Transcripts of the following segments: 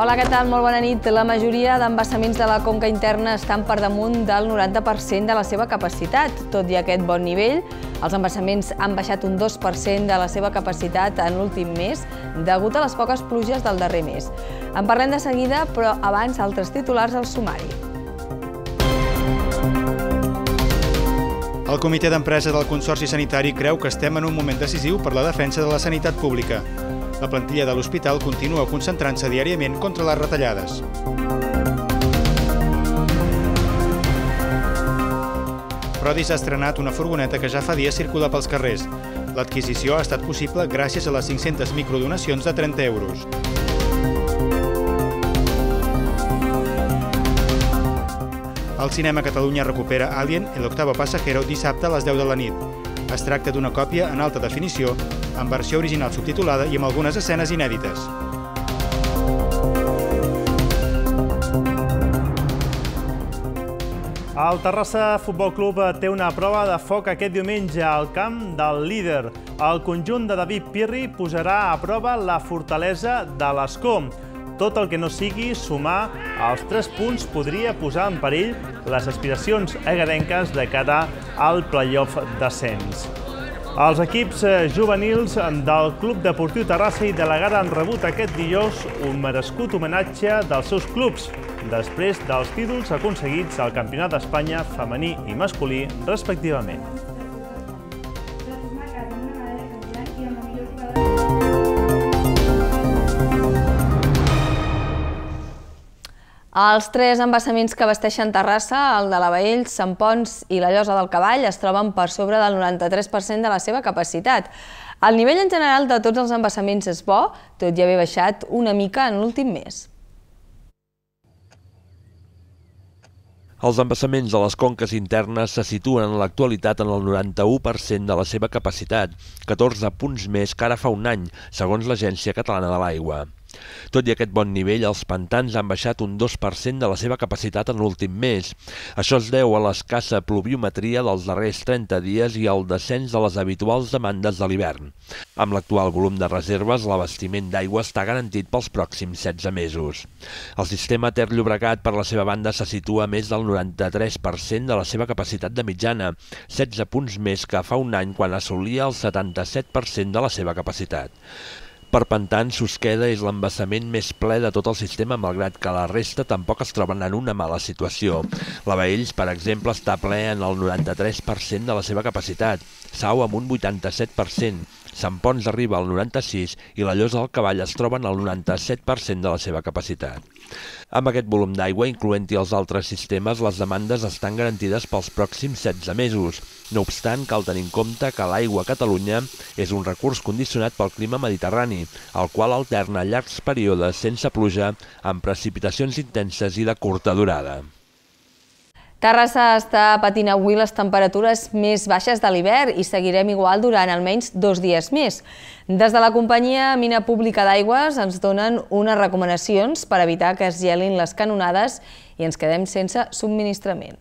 Hola, què tal? Molt bona nit. La majoria d'embassaments de la conca interna estan per damunt del 90% de la seva capacitat. Tot i aquest bon nivell, els embassaments han baixat un 2% de la seva capacitat en l'últim mes, degut a les poques pluges del darrer mes. En parlem de seguida, però abans altres titulars al sumari. El comitè d'empresa del Consorci Sanitari creu que estem en un moment decisiu per la defensa de la sanitat pública. La plantilla de l'hospital continua concentrant-se diàriament contra les retallades. Prodis ha estrenat una furgoneta que ja fa dies circula pels carrers. L'adquisició ha estat possible gràcies a les 500 microdonacions de 30 euros. El Cinema Catalunya recupera Alien, el octavo pasajero, dissabte a les 10 de la nit. Es tracta d'una còpia en alta definició, en versió original subtitulada i amb algunes escenes inèdites. El Terrassa Futbol Club té una prova de foc aquest diumenge al camp del líder. El conjunt de David Pirri posarà a prova la fortalesa de l'Escó. Tot el que no sigui sumar els 3 punts podria posar en perill les aspiracions egarenques de cara al play-off d'ascens. Els equips juvenils del Club Deportiu Terrassa i de la Gara han rebut aquest dijous un merescut homenatge dels seus clubs, després dels títols aconseguits al Campionat d'Espanya femení i masculí, respectivament. Els 3 embassaments que abasteixen Terrassa, el de la Baells, Sant Ponç i la Llosa del Cavall, es troben per sobre del 93% de la seva capacitat. El nivell en general de tots els embassaments és bo, tot i haver baixat una mica en l'últim mes. Els embassaments de les conques internes se situen en l'actualitat en el 91% de la seva capacitat, 14 punts més que ara fa un any, segons l'Agència Catalana de l'Aigua. Tot i aquest bon nivell, els pantans han baixat un 2% de la seva capacitat en l'últim mes. Això es deu a l'escassa pluviometria dels darrers 30 dies i al descens de les habituals demandes de l'hivern. Amb l'actual volum de reserves, l'abastiment d'aigua està garantit pels pròxims 16 mesos. El sistema Ter Llobregat, per la seva banda, se situa a més del 93% de la seva capacitat de mitjana, 16 punts més que fa un any quan assolia el 77% de la seva capacitat. Per pantans, Susqueda és l'embassament més ple de tot el sistema, malgrat que la resta tampoc es troben en una mala situació. La Baells, per exemple, està ple en el 93% de la seva capacitat, Sau amb un 87%, Sant Ponç arriba al 96% i la Llosa del Cavall es troben al 97% de la seva capacitat. Amb aquest volum d'aigua, incloent-hi els altres sistemes, les demandes estan garantides pels pròxims 16 mesos. No obstant, cal tenir en compte que l'aigua a Catalunya és un recurs condicionat pel clima mediterrani, el qual alterna llargs períodes sense pluja amb precipitacions intenses i de curta durada. Terrassa està patint avui les temperatures més baixes de l'hivern i seguirem igual durant almenys 2 dies més. Des de la companyia Mina Pública d'Aigües ens donen unes recomanacions per evitar que es gelin les canonades i ens quedem sense subministrament.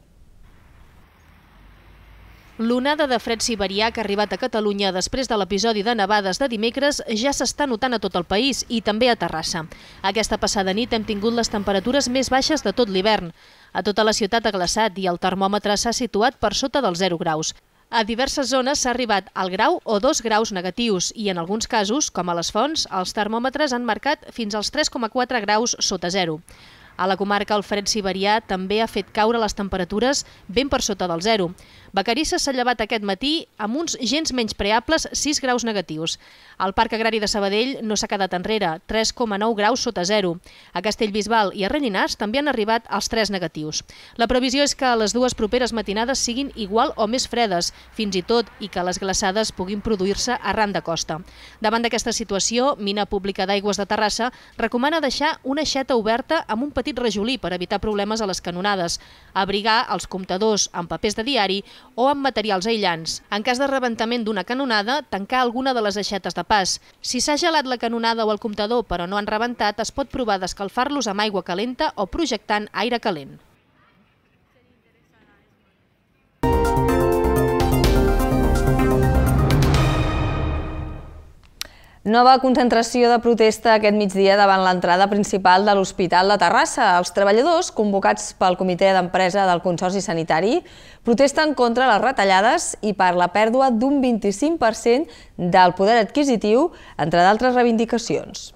L'onada de fred siberià que ha arribat a Catalunya després de l'episodi de nevades de dimecres ja s'està notant a tot el país i també a Terrassa. Aquesta passada nit hem tingut les temperatures més baixes de tot l'hivern. A tota la ciutat ha glaçat i el termòmetre s'ha situat per sota dels 0 graus. A diverses zones s'ha arribat al grau o 2 graus negatius i en alguns casos, com a les Fonts, els termòmetres han marcat fins als 3,4 graus sota 0. A la comarca el fred siberià també ha fet caure les temperatures ben per sota del 0. Vacarisses s'ha llevat aquest matí amb uns gens menyspreables 6 graus negatius. El Parc Agrari de Sabadell no s'ha quedat enrere, 3,9 graus sota 0. A Castellbisbal i a Rellinars també han arribat als 3 negatius. La previsió és que les 2 properes matinades siguin igual o més fredes, fins i tot, i que les glaçades puguin produir-se arran de costa. Davant d'aquesta situació, Mina Pública d'Aigües de Terrassa recomana deixar una aixeta oberta amb un petit rajolí per evitar problemes a les canonades, abrigar els comptadors amb papers de diari o amb materials aïllants. En cas de rebentament d'una canonada, tancar alguna de les aixetes de pas. Si s'ha gelat la canonada o el comptador però no han rebentat, es pot provar d'escalfar-los amb aigua calenta o projectant aire calent. Nova concentració de protesta aquest migdia davant l'entrada principal de l'Hospital de Terrassa. Els treballadors, convocats pel Comitè d'Empresa del Consorci Sanitari, protesten contra les retallades i per la pèrdua d'un 25% del poder adquisitiu, entre d'altres reivindicacions.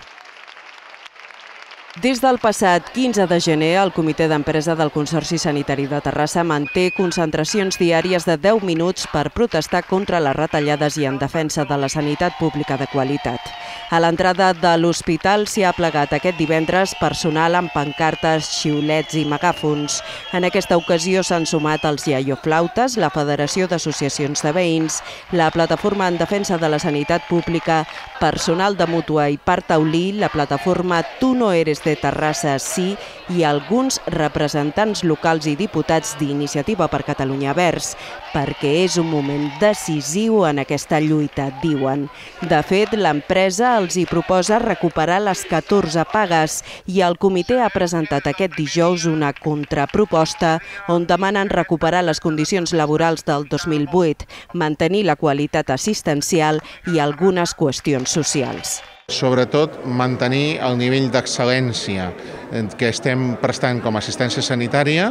Des del passat 15 de gener, el Comitè d'Empresa del Consorci Sanitari de Terrassa manté concentracions diàries de 10 minuts per protestar contra les retallades i en defensa de la sanitat pública de qualitat. A l'entrada de l'hospital s'hi ha plegat aquest divendres personal amb pancartes, xiulets i megàfons. En aquesta ocasió s'han sumat els iaioflautes, la Federació d'Associacions de Veïns, la Plataforma en Defensa de la Sanitat Pública, personal de Mútua i Parc Taulí, la plataforma Tu no eres de Terrassa sí i alguns representants locals i diputats d'Iniciativa per Catalunya Verds, perquè és un moment decisiu en aquesta lluita, diuen. De fet, l'empresa els hi proposa recuperar les 14 pagues i el comitè ha presentat aquest dijous una contraproposta on demanen recuperar les condicions laborals del 2008, mantenir la qualitat assistencial i algunes qüestions socials. Sobretot mantenir el nivell d'excel·lència que estem prestant com a assistència sanitària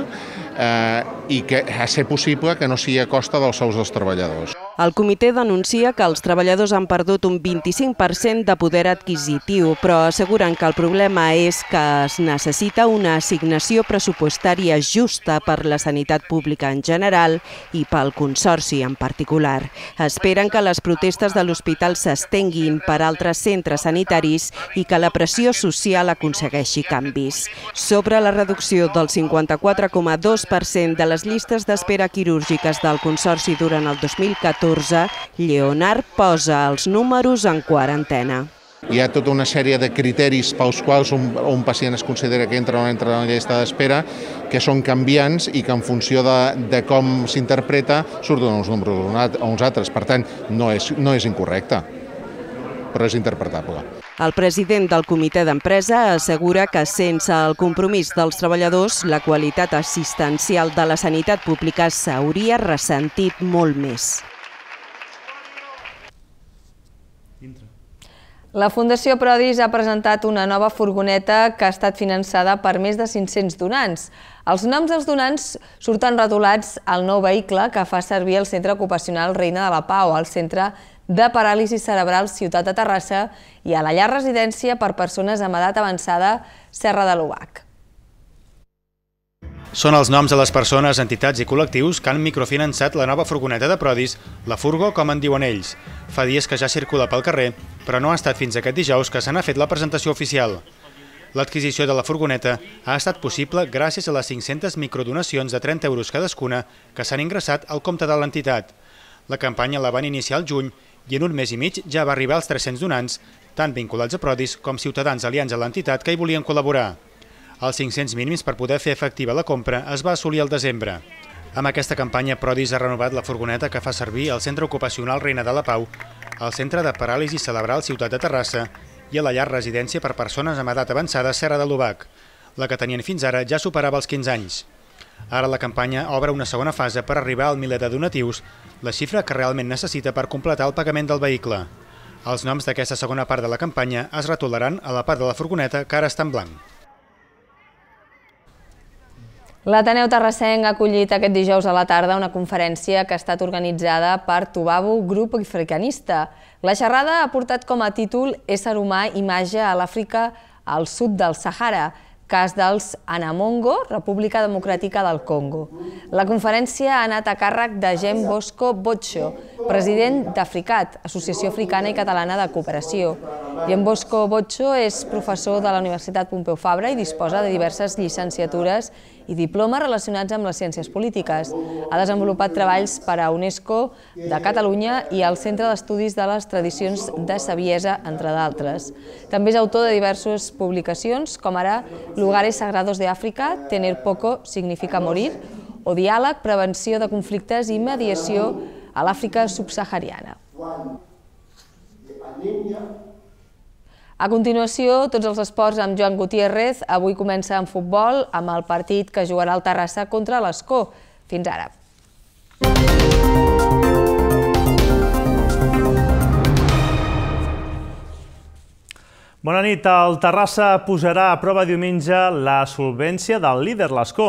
i que a ser possible que no sigui a costa dels sous dels treballadors. El comitè denuncia que els treballadors han perdut un 25% de poder adquisitiu, però asseguren que el problema és que es necessita una assignació pressupostària justa per la sanitat pública en general i pel Consorci en particular. Esperen que les protestes de l'hospital s'estenguin per altres centres sanitaris i que la pressió social aconsegueixi canvis. Sobre la reducció del 54,2% de les llistes d'espera quirúrgiques del Consorci durant el 2014, Lleonard posa els números en quarantena. Hi ha tota una sèrie de criteris pels quals un pacient es considera que entra o no entra en la llista d'espera, que són canviants i que en funció de com s'interpreta surten uns números o uns altres. Per tant, no és incorrecte, però és interpretable. El president del Comitè d'Empresa assegura que sense el compromís dels treballadors, la qualitat assistencial de la sanitat pública s'hauria ressentit molt més. La Fundació Prodis ha presentat una nova furgoneta que ha estat finançada per més de 500 donants. Els noms dels donants surten retolats al nou vehicle que fa servir el Centre Ocupacional Reina de la Pau, al Centre de Paràlisi Cerebral Ciutat de Terrassa i a la llar residència per persones amb edat avançada Serra de l'Obac. Són els noms de les persones, entitats i col·lectius que han microfinançat la nova furgoneta de Prodis, la Furgo, com en diuen ells. Fa dies que ja circula pel carrer, però no ha estat fins aquest dijous que se n'ha fet la presentació oficial. L'adquisició de la furgoneta ha estat possible gràcies a les 500 microdonacions de 30 euros cadascuna que s'han ingressat al compte de l'entitat. La campanya la van iniciar al juny i en un mes i mig ja va arribar als 300 donants, tant vinculats a Prodis com ciutadans aliats a l'entitat que hi volien col·laborar. Els 500 mínims per poder fer efectiva la compra es va assolir al desembre. Amb aquesta campanya, Prodis ha renovat la furgoneta que fa servir al Centre Ocupacional Reina de la Pau, al Centre de Paràlisi Cerebral Ciutat de Terrassa i a la llar residència per persones amb edat avançada Serra de l'Obac. La que tenien fins ara ja superava els 15 anys. Ara la campanya obre una segona fase per arribar al miler de donatius, la xifra que realment necessita per completar el pagament del vehicle. Els noms d'aquesta segona part de la campanya es retolaran a la part de la furgoneta que ara està en blanc. L'Ateneu Terrassenc ha acollit aquest dijous a la tarda una conferència que ha estat organitzada per Tuvabu, grup africanista. La xerrada ha portat com a títol Ésser humà, imatge a l'Àfrica al sud del Sàhara, cas dels Anamongo, República Democràtica del Congo. La conferència ha anat a càrrec de Jean Bosco Botxo, president d'Africat, Associació Africana i Catalana de Cooperació. Jean Bosco Botxo és professor de la Universitat Pompeu Fabra i disposa de diverses llicenciatures i diplomes relacionats amb les ciències polítiques. Ha desenvolupat treballs per a UNESCO de Catalunya i al Centre d'Estudis de les Tradicions de Saviesa, entre d'altres. També és autor de diverses publicacions, com ara Lugares Sagrados de Àfrica, Tener poco significa morir, o Diàleg, prevenció de conflictes i mediació a l'Àfrica subsahariana. A continuació, tots els esports amb Joan Gutiérrez. Avui comença en futbol amb el partit que jugarà el Terrassa contra l'Escó. Fins ara. Bona nit. El Terrassa posarà a prova diumenge la solvència del líder, l'Escó.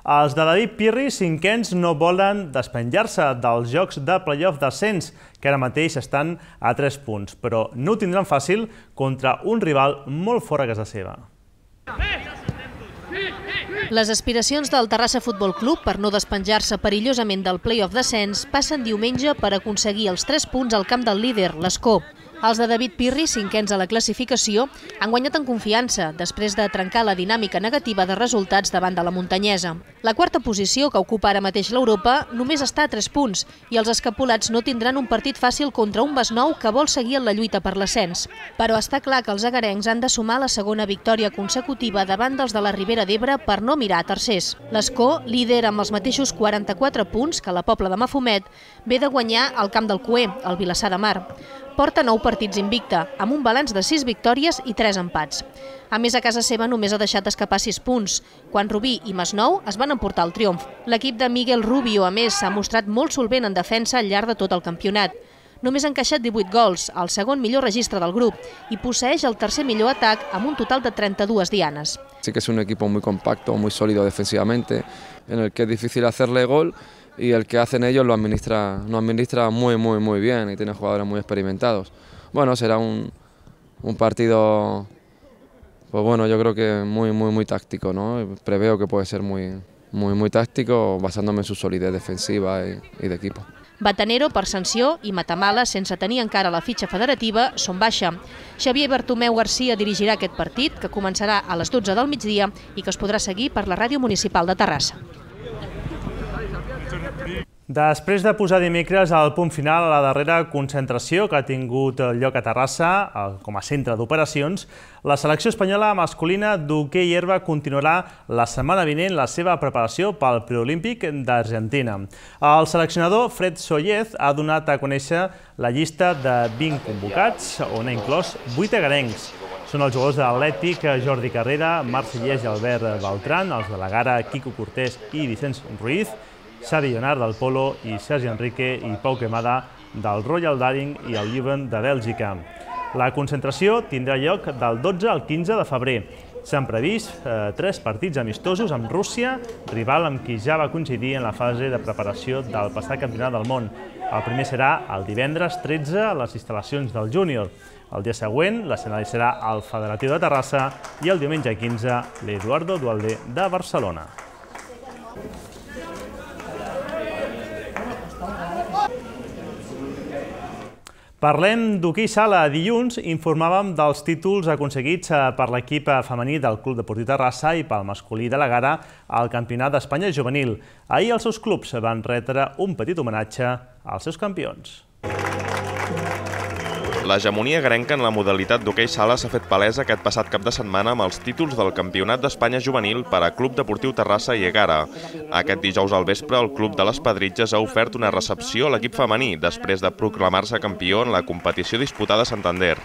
Els de David Pirri, cinquens, no volen despenjar-se dels jocs de play-off d'ascens, que ara mateix estan a 3 punts, però no ho tindran fàcil contra un rival molt fora a casa seva. Les aspiracions del Terrassa Futbol Club per no despenjar-se perillosament del play-off d'ascens passen diumenge per aconseguir els 3 punts al camp del líder, l'Escó. Els de David Pirri, cinquens a la classificació, han guanyat en confiança després de trencar la dinàmica negativa de resultats davant de la muntanyesa. La quarta posició, que ocupa ara mateix l'Europa, només està a 3 punts i els escapolats no tindran un partit fàcil contra un Masnou que vol seguir en la lluita per l'ascens. Però està clar que els agarencs han de sumar la segona victòria consecutiva davant dels de la Ribera d'Ebre per no mirar a tercers. L'Escó, líder amb els mateixos 44 punts que la Pobla de Mafumet, ve de guanyar al camp del Cué, al Vilassar de Mar. Porta 9 partits invicta, amb un balanç de 6 victòries i 3 empats. A més, a casa seva només ha deixat escapar 6 punts, quan Rubí i Masnou es van emportar el triomf. L'equip de Miguel Rubio, a més, s'ha mostrat molt solvent en defensa al llarg de tot el campionat. Només ha encaixat 18 gols, el segon millor registre del grup, i posseeix el tercer millor atac amb un total de 32 dianes. Sí que es un equipo muy compacto, muy sólido defensivamente, en el que es difícil hacerle gol, y el que hacen ellos lo administra muy bien y tiene jugadores muy experimentados. Bueno, será un partido, pues bueno, yo creo que muy táctico, ¿no? Preveo que puede ser muy táctico, basándome en su solidez defensiva y de equipo. Batanero, per sanció, i Matamala, sense tenir encara la fitxa federativa, són baixa. Xavier Bartomeu Garcia dirigirà aquest partit, que començarà a les 12 del migdia i que es podrà seguir per la Ràdio Municipal de Terrassa. Després de posar dimecres el punt final a la darrera concentració que ha tingut lloc a Terrassa com a centre d'operacions, la selecció espanyola masculina d'hoquei herba continuarà la setmana vinent la seva preparació pel preolímpic d'Argentina. El seleccionador Fred Sollez ha donat a conèixer la llista de 20 convocats, on ha inclòs 8 agarencs. Són els jugadors de l'Atlètic Jordi Carrera, Marc Sillés i Albert Beltran, els de la Gara Quico Cortés i Vicenç Ruiz, Xavi Llonard del Polo i Sergi Enrique i Pau Quemada del Royal Daring i el Leuven de Bèlgica. La concentració tindrà lloc del 12 al 15 de febrer. S'han previst 3 partits amistosos amb Rússia, rival amb qui ja va coincidir en la fase de preparació del passat Campionat del Món. El primer serà el divendres 13 a les instal·lacions del júnior. El dia següent l'escenari serà el Federatiu de Terrassa i el diumenge 15 l'Eduardo Duhalde de Barcelona. Parlem d'hoquei sala. Dilluns informàvem dels títols aconseguits per l'equip femení del Club Deportiu Terrassa i pel masculí de la Gara al Campionat d'Espanya juvenil. Ahir els seus clubs van retre un petit homenatge als seus campions. L'hegemonia agarenca en la modalitat d'hoquei sala s'ha fet palesa aquest passat cap de setmana amb els títols del Campionat d'Espanya juvenil per a Club Deportiu Terrassa i Egara. Aquest dijous al vespre, el Club de les Pedritges ha ofert una recepció a l'equip femení després de proclamar-se campió en la competició disputada a Santander.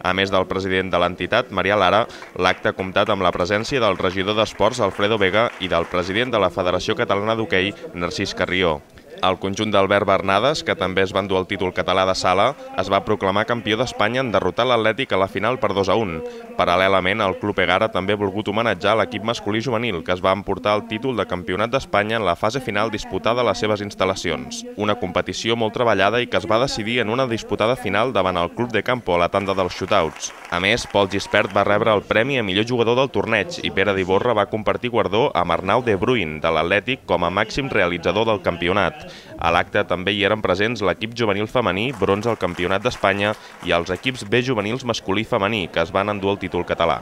A més del president de l'entitat, Maria Lara, l'acte ha comptat amb la presència del regidor d'Esports, Alfredo Vega, i del president de la Federació Catalana d'Hoquei, Narcís Carrió. El conjunt d'Albert Bernades, que també es va endur el títol català de sala, es va proclamar campió d'Espanya en derrotar l'Atlètic a la final per 2-1. Paral·lelament, el Club Egara també ha volgut homenatjar l'equip masculí juvenil, que es va emportar el títol de campionat d'Espanya en la fase final disputada a les seves instal·lacions. Una competició molt treballada i que es va decidir en una disputada final davant el Club de Campo a la tanda dels shootouts. A més, Pol Gispert va rebre el premi a millor jugador del torneig i Pere d'Iborra va compartir guardó amb Arnau de Bruin, de l'Atlètic, com a màxim realitzador del campionat. A l'acte també hi eren presents l'equip juvenil femení, bronze al Campionat d'Espanya, i els equips B juvenils masculí i femení, que es van endur el títol català.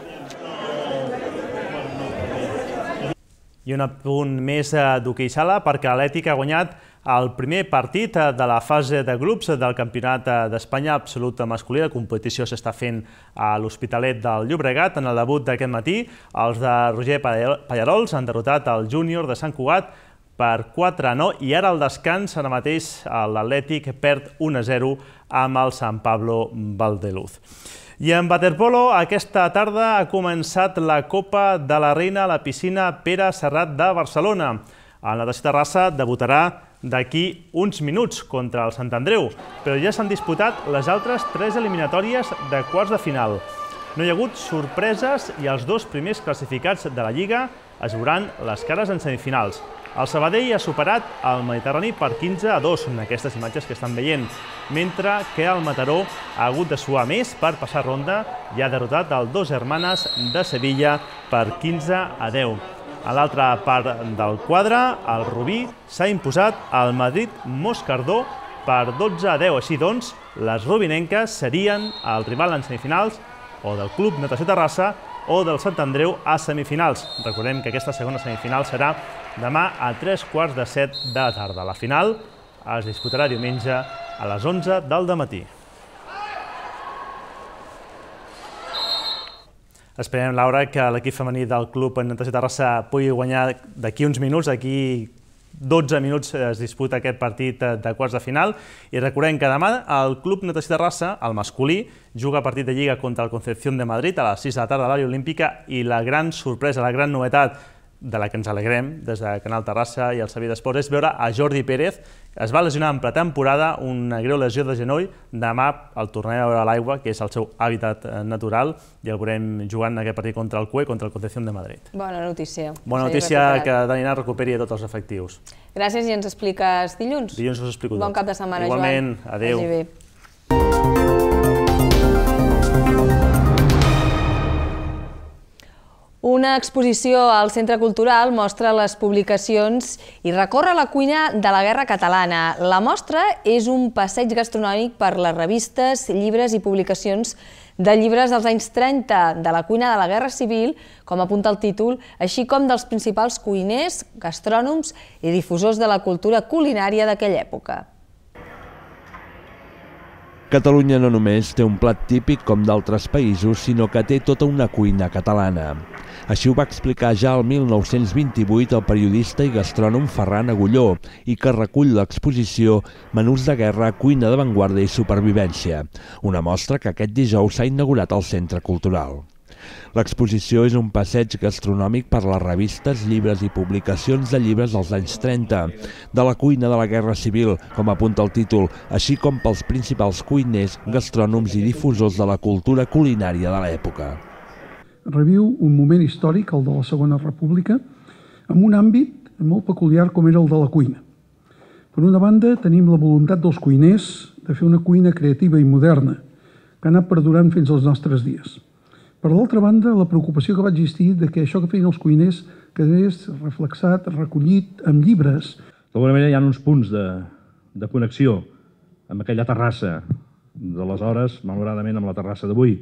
I un apunt més d'hoquei sala, perquè l'Atlètic ha guanyat el primer partit de la fase de grups del Campionat d'Espanya absolut masculí. La competició s'està fent a l'Hospitalet del Llobregat. En el debut d'aquest matí, els de Roger Pallarols han derrotat el júnior de Sant Cugat per 4-9 i ara al descans, ara mateix, l'Atlètic perd 1-0 amb el San Pablo Valdeluz. I en waterpolo, aquesta tarda ha començat la Copa de la Reina a la piscina Pere Serrat de Barcelona. El Natació Terrassa debutarà d'aquí uns minuts contra el Sant Andreu, però ja s'han disputat les altres 3 eliminatòries de quarts de final. No hi ha hagut sorpreses i els dos primers classificats de la Lliga es veuran les cares en semifinals. El Sabadell ha superat el Mediterrani per 15-2 en aquestes imatges que estan veient, mentre que el Mataró ha hagut de suar més per passar ronda i ha derrotat el Dos Hermanes de Sevilla per 15-10. A l'altra part del quadre, el Rubí s'ha imposat al Madrid Moscardó per 12-10. Així doncs, les rubinenques serien el rival en semifinals o del Club Natació Terrassa o del Sant Andreu a semifinals. Recordem que aquesta segona semifinal serà demà a 15:45 de la tarda. La final es disputarà diumenge a les 11 del dematí. Esperem, Laura, que l'equip femení del Club Natació Terrassa pugui guanyar d'aquí uns minuts. D'aquí 12 minuts es disputa aquest partit de quarts de final. I recordem que demà el Club Natació Terrassa, el masculí, juga partit de Lliga contra el Concepción de Madrid a les 6 de la tarda a l'àrea olímpica, i la gran sorpresa, la gran novetat de la que ens alegrem des de Canal Terrassa i el Servei d'Esports és veure a Jordi Pérez. Es va lesionar en pretemporada, una greu lesió de genoll. Demà el tornarem a veure a l'aigua, que és el seu hàbitat natural, i el veurem jugant aquest partit contra el CUE, contra el Concepción de Madrid. Bona notícia. Bona notícia que Daniel recuperi tots els efectius. Gràcies, i ens expliques dilluns. Dilluns us explico tot. Bon cap de setmana, Joan. Igualment, adéu. Vagi bé. Una exposició al Centre Cultural mostra les publicacions i recorre la cuina de la Guerra Catalana. La mostra és un passeig gastronòmic per les revistes, llibres i publicacions de llibres dels anys 30 de la cuina de la Guerra Civil, com apunta el títol, així com dels principals cuiners, gastrònoms i difusors de la cultura culinària d'aquella època. Catalunya no només té un plat típic com d'altres països, sinó que té tota una cuina catalana. Així ho va explicar ja el 1928 el periodista i gastrònom Ferran Agulló, i que recull l'exposició Menús de guerra, cuina d'avantguarda i supervivència, una mostra que aquest dijous s'ha inaugurat al Centre Cultural. L'exposició és un passeig gastronòmic per les revistes, llibres i publicacions de llibres dels anys 30, de la cuina de la Guerra Civil, com apunta el títol, així com pels principals cuiners, gastrònoms i difusors de la cultura culinària de l'època. Reviu un moment històric, el de la Segona República, amb un àmbit molt peculiar com era el de la cuina. Per una banda, tenim la voluntat dels cuiners de fer una cuina creativa i moderna, que ha anat perdurant fins als nostres dies. Per l'altra banda, la preocupació que va existir de que això que feien els cuiners quedés reflexat, recollit en llibres. D'alguna manera hi ha uns punts de connexió amb aquella Terrassa d'aleshores, malauradament amb la Terrassa d'avui.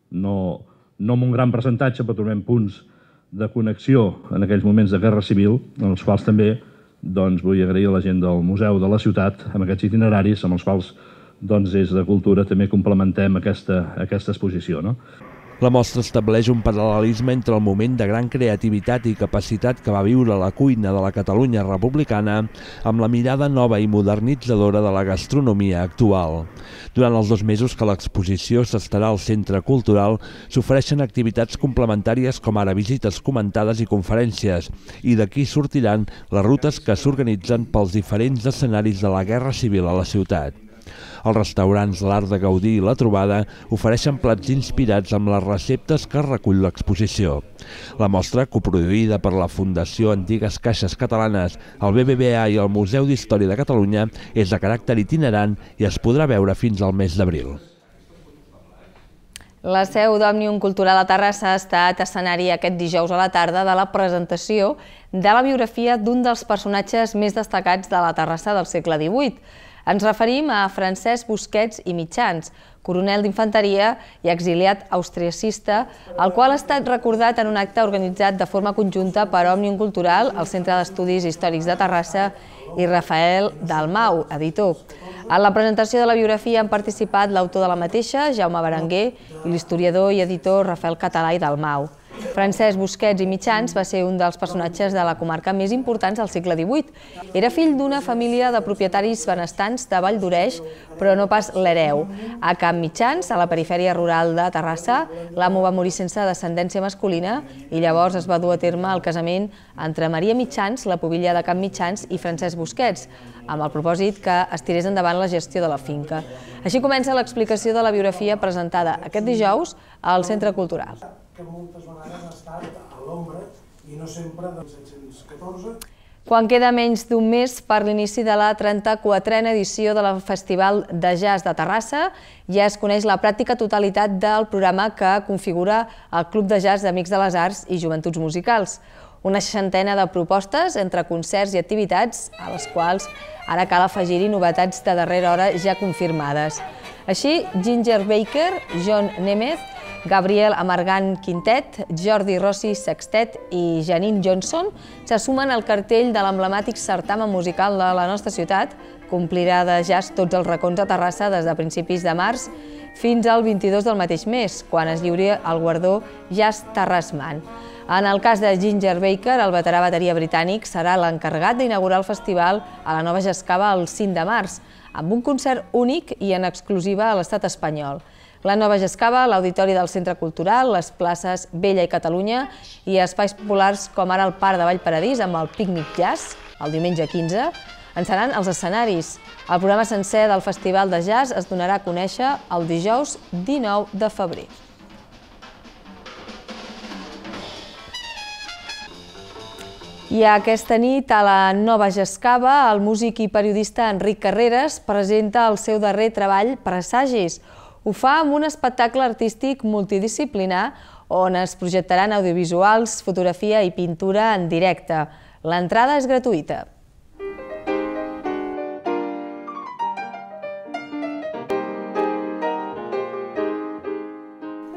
No amb un gran percentatge, però trobem punts de connexió en aquells moments de Guerra Civil, en els quals també vull agrair a la gent del Museu de la Ciutat amb aquests itineraris, amb els quals des de Cultura també complementem aquesta exposició. La mostra estableix un paral·lelisme entre el moment de gran creativitat i capacitat que va viure la cuina de la Catalunya republicana amb la mirada nova i modernitzadora de la gastronomia actual. Durant els 2 mesos que l'exposició s'estarà al Centre Cultural, s'ofereixen activitats complementàries com ara visites comentades i conferències, i d'aquí sortiran les rutes que s'organitzen pels diferents escenaris de la Guerra Civil a la ciutat. Els restaurants L'Art de Gaudir i La Trobada ofereixen plats inspirats amb les receptes que recull l'exposició. La mostra, coproduïda per la Fundació Antigues Caixes Catalanes, el BBVA i el Museu d'Història de Catalunya, és de caràcter itinerant i es podrà veure fins al mes d'abril. La seu d'Òmnium Cultural a Terrassa ha estat escenari aquest dijous a la tarda de la presentació de la biografia d'un dels personatges més destacats de la Terrassa del segle XVIII. Ens referim a Francesc Busquets i Mitjans, coronel d'infanteria i exiliat austriacista, el qual ha estat recordat en un acte organitzat de forma conjunta per Òmnium Cultural, el Centre d'Estudis Històrics de Terrassa i Rafael Dalmau, editor. En la presentació de la biografia han participat l'autor de la mateixa, Jaume Berenguer, i l'historiador i editor Rafael Català i Dalmau. Francesc Busquets i Mitjans va ser un dels personatges de la comarca més importants del segle XVIII. Era fill d'una família de propietaris benestants de Vall d'Oreix, però no pas l'hereu. A Camp Mitjans, a la perifèria rural de Terrassa, l'amo va morir sense descendència masculina i llavors es va dur a terme el casament entre Maria Mitjans, la pubilla de Camp Mitjans, i Francesc Busquets, amb el propòsit que es tirés endavant la gestió de la finca. Així comença l'explicació de la biografia presentada aquest dijous al Centre Cultural. Que moltes vegades ha estat a l'ombra i no sempre del 714. Quan queda menys d'un mes per l'inici de la 34a edició del Festival de Jazz de Terrassa, ja es coneix la pràctica totalitat del programa que configura el Club de Jazz d'Amics de les Arts i Joventuts Musicals. Una 60ena de propostes entre concerts i activitats a les quals ara cal afegir-hi novetats de darrera hora ja confirmades. Així, Ginger Baker, John Nemeth, Gabriel Amargant Quintet, Jordi Rossi Sextet i Janine Johnson se sumen al cartell de l'emblemàtic certamen musical de la nostra ciutat, que omplirà de jazz tots els racons de Terrassa des de principis de març fins al 22 del mateix mes, quan es lliuri el guardó Jazz Terrassman. En el cas de Ginger Baker, el veterà bateria britànic serà l'encarregat d'inaugurar el festival a la Nova Jascava el 5 de març, amb un concert únic i en exclusiva a l'estat espanyol. La Nova Jascava, l'Auditori del Centre Cultural, les places Vella i Catalunya i espais populars com ara el Parc de Vallparadís amb el Pícnic Jazz, el diumenge 15, en seran els escenaris. El programa sencer del Festival de Jazz es donarà a conèixer el dijous 19 de febrer. I aquesta nit, a la Nova Jascava, el músic i periodista Enric Carreras presenta el seu darrer treball, Presagis. Ho fa amb un espectacle artístic multidisciplinar on es projectaran audiovisuals, fotografia i pintura en directe. L'entrada és gratuïta.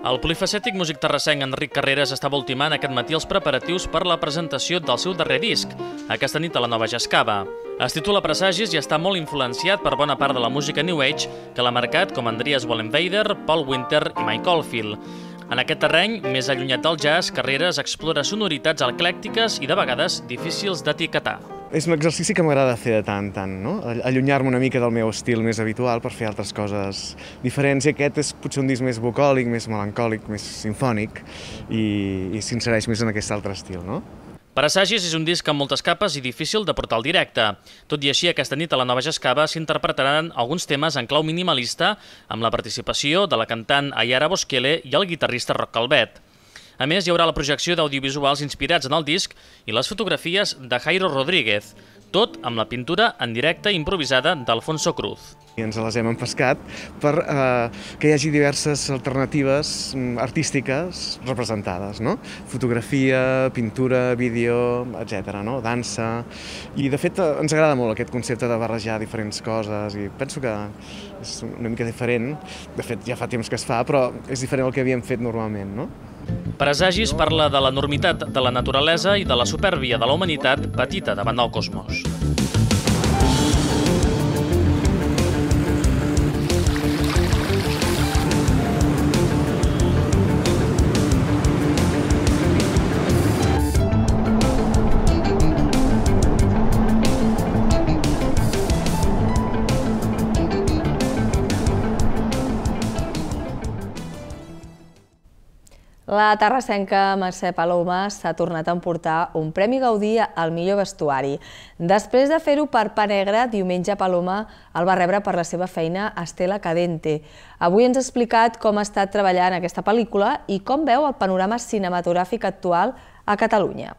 El polifacètic músic terrassenc Enric Carreras estava ultimant aquest matí els preparatius per la presentació del seu darrer disc, aquesta nit a la Nova Jascava. Es titula Presagis i està molt influenciat per bona part de la música New Age que l'ha marcat com Andreas Wallenweider, Paul Winter i Mike Oldfield. En aquest terreny, més allunyat del jazz, Carreras explora sonoritats eclèctiques i de vegades difícils d'etiquetar. És un exercici que m'agrada fer de tant en tant, no? Allunyar-me una mica del meu estil més habitual per fer altres coses diferents. I aquest és potser un disc més bucòlic, més melancòlic, més simfònic i s'insereix més en aquest altre estil, no? Presagis és un disc amb moltes capes i difícil de portar al directe. Tot i així, aquesta nit a la Nova Jascava s'interpretaran alguns temes en clau minimalista amb la participació de la cantant Ayara Boschele i el guitarrista Roc Calvet. A més, hi haurà la projecció d'audiovisuals inspirats en el disc i les fotografies de Jairo Rodríguez, tot amb la pintura en directe improvisada d'Alfonso Cruz. I ens les hem empescat per que hi hagi diverses alternatives artístiques representades, no? Fotografia, pintura, vídeo, etc., no? Dansa. I de fet ens agrada molt aquest concepte de barrejar diferents coses i penso que és una mica diferent. De fet, ja fa temps que es fa, però és diferent del que havíem fet normalment, no? Presagis parla de l'enormitat de la naturalesa i de la supèrbia de la humanitat petita davant del cosmos. La terrassenca Mercè Paloma s'ha tornat a emportar un Premi Gaudí al millor vestuari. Després de fer-ho per Pa Negre, diumenge Paloma el va rebre per la seva feina a Estela Cadente. Avui ens ha explicat com ha estat treballant aquesta pel·lícula i com veu el panorama cinematogràfic actual a Catalunya.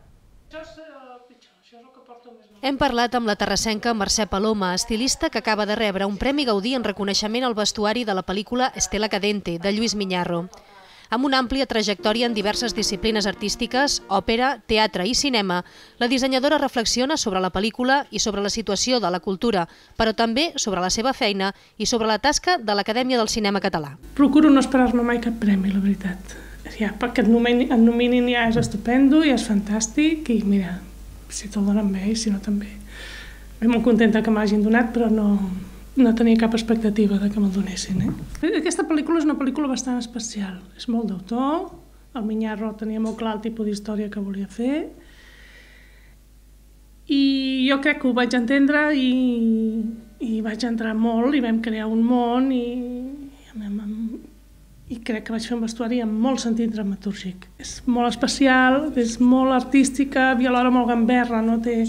Hem parlat amb la terrassenca Mercè Paloma, estilista que acaba de rebre un Premi Gaudí en reconeixement al vestuari de la pel·lícula Estela Cadente, de Lluís Miñarro. Amb una àmplia trajectòria en diverses disciplines artístiques, òpera, teatre i cinema, la dissenyadora reflexiona sobre la pel·lícula i sobre la situació de la cultura, però també sobre la seva feina i sobre la tasca de l'Acadèmia del Cinema Català. Procuro no esperar-me mai cap premi, la veritat. Ja, perquè et nominin ja és estupendo, ja és fantàstic i mira, si te'l donen bé i si no també. Estic molt contenta que m'hagin donat, però no tenia cap expectativa de que me'l donessin. Aquesta pel·lícula és una pel·lícula bastant especial. És molt d'autor, El Minyarro tenia molt clar el tipus d'història que volia fer. I jo crec que ho vaig entendre i vaig entrar molt i vam crear un món i crec que vaig fer un vestuari amb molt sentit dramatúrgic. És molt especial, és molt artística i alhora molt gamberra, no té...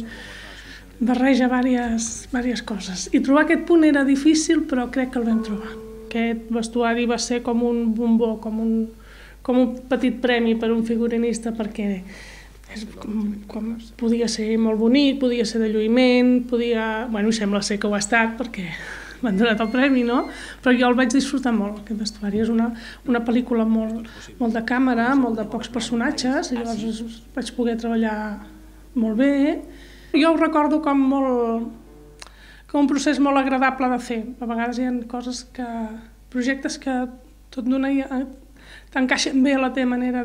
barreja diverses coses. I trobar aquest punt era difícil, però crec que el vam trobar. Aquest vestuari va ser com un bombó, com un petit premi per un figurinista, perquè podia ser molt bonic, podia ser de lluïment, Bueno, sembla ser que ho ha estat, perquè m'han donat el premi, no? Però jo el vaig disfrutar molt, aquest vestuari. És una pel·lícula molt de càmera, molt de pocs personatges, i llavors vaig poder treballar molt bé. Jo ho recordo com un procés molt agradable de fer. A vegades hi ha projectes que tot d'una t'encaixen bé a la teva manera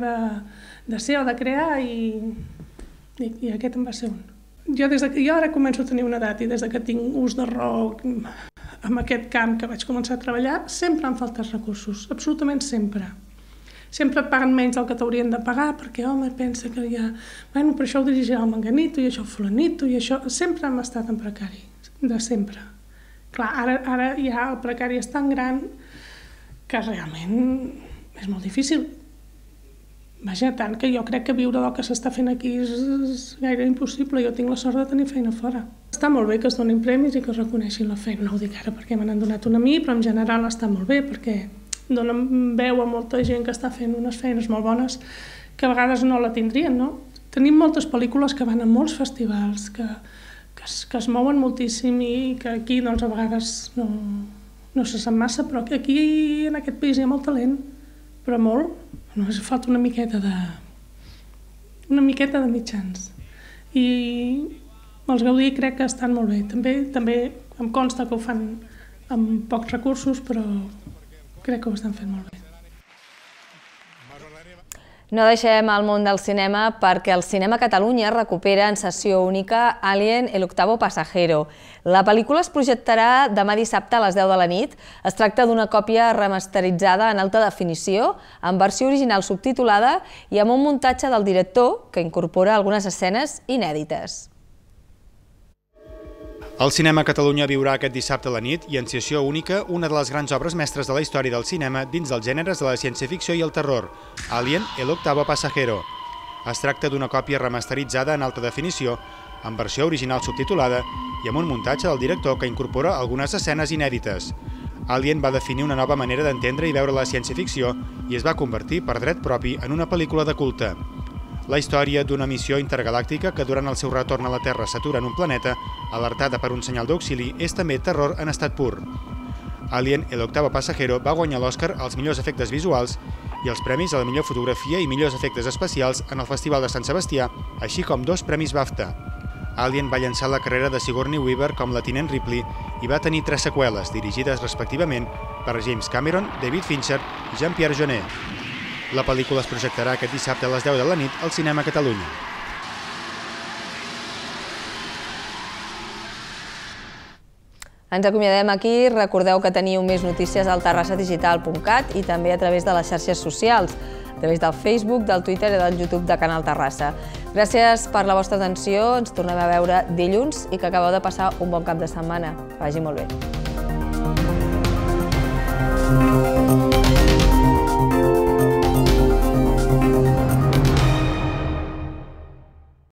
de ser o de crear i aquest en va ser un. Jo ara començo a tenir una edat i des que tinc ús de raó en aquest camp que vaig començar a treballar, sempre han faltat recursos, absolutament sempre. Sempre et paguen menys del que t'haurien de pagar perquè, home, pensa que ja... Bueno, per això ho dirigirà el menganito i això el fulanito i això... Sempre hem estat en precari, de sempre. Clar, ara ja el precari és tan gran que realment és molt difícil. Vaja, tant que jo crec que viure del que s'està fent aquí és gaire impossible. Jo tinc la sort de tenir feina fora. Està molt bé que es donin premis i que es reconeixin la feina. No ho dic ara perquè me n'han donat una a mi, però en general està molt bé perquè donen veu a molta gent que està fent unes feines molt bones que a vegades no la tindrien, no? Tenim moltes pel·lícules que van a molts festivals, que es mouen moltíssim i que aquí doncs, a vegades no se sap massa, però que aquí en aquest país hi ha molt talent, però molt. Només falta una miqueta de mitjans. I els Gaudí crec que estan molt bé. També em consta que ho fan amb pocs recursos, però crec que ho estan fent molt bé. No deixem el món del cinema perquè el Cinema Catalunya recupera en sessió única Alien, el octavo pasajero. La pel·lícula es projectarà demà dissabte a les 10 de la nit. Es tracta d'una còpia remasteritzada en alta definició, en versió original subtitulada i amb un muntatge del director que incorpora algunes escenes inèdites. El Cinema Catalunya viurà aquest dissabte a la nit i en sessió única una de les grans obres mestres de la història del cinema dins dels gèneres de la ciència-ficció i el terror, Alien, el octavo pasajero. Es tracta d'una còpia remasteritzada en alta definició, en versió original subtitulada i amb un muntatge del director que incorpora algunes escenes inèdites. Alien va definir una nova manera d'entendre i veure la ciència-ficció i es va convertir per dret propi en una pel·lícula de culte. La història d'una missió intergalàctica que durant el seu retorn a la Terra s'atura en un planeta, alertada per un senyal d'auxili, és també terror en estat pur. Alien, el octavo pasajero, va guanyar l'Oscar als millors efectes visuals i els premis a la millor fotografia i millors efectes especials en el Festival de Sant Sebastià, així com 2 premis BAFTA. Alien va llançar la carrera de Sigourney Weaver com la tinent Ripley i va tenir 3 seqüeles, dirigides respectivament per James Cameron, David Fincher i Jean-Pierre Jeunet. La pel·lícula es projectarà aquest dissabte a les 10 de la nit al Cinema Catalunya. Ens acomiadem aquí. Recordeu que teniu més notícies al terrassadigital.cat i també a través de les xarxes socials, a través del Facebook, del Twitter i del YouTube de Canal Terrassa. Gràcies per la vostra atenció. Ens tornem a veure dilluns i que acabeu de passar un bon cap de setmana. Que vagi molt bé.